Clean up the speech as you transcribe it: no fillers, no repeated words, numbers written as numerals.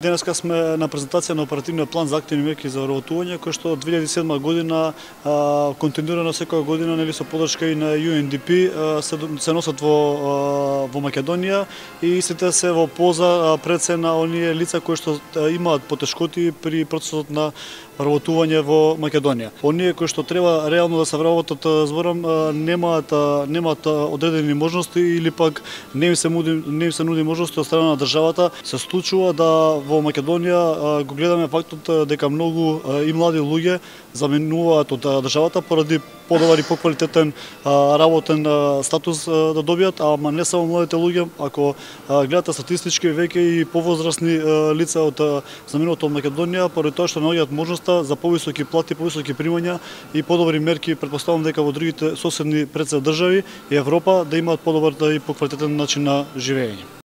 Денеска сме на презентација на оперативниот план за активни мерки за вработување, кој што 2007 година континуирано секоја година со подршка и на UNDP се носат во Македонија и сите се во полза пред се на оние лица кои што имаат потешкоти при процесот на вработување во Македонија. Оние кои што треба реално да се вработат, зборам, немаат одредени можности или пак не им се нуди можности од страна на државата. Се случува да во Македонија го гледаме фактот дека многу и млади луѓе заменуваат од државата поради подобар и поквалитетен работен статус да добијат, ама не само младите луѓе, ако гледате статистички, веќе и повозрасни лица од заминуваат од Македонија, поради тоа што наоѓаат можноста за повисоки плати, повисоки примања и подобри мерки, претпоставувам дека во другите соседни пред се држави и Европа да имаат подобар и поквалитетен начин на живење.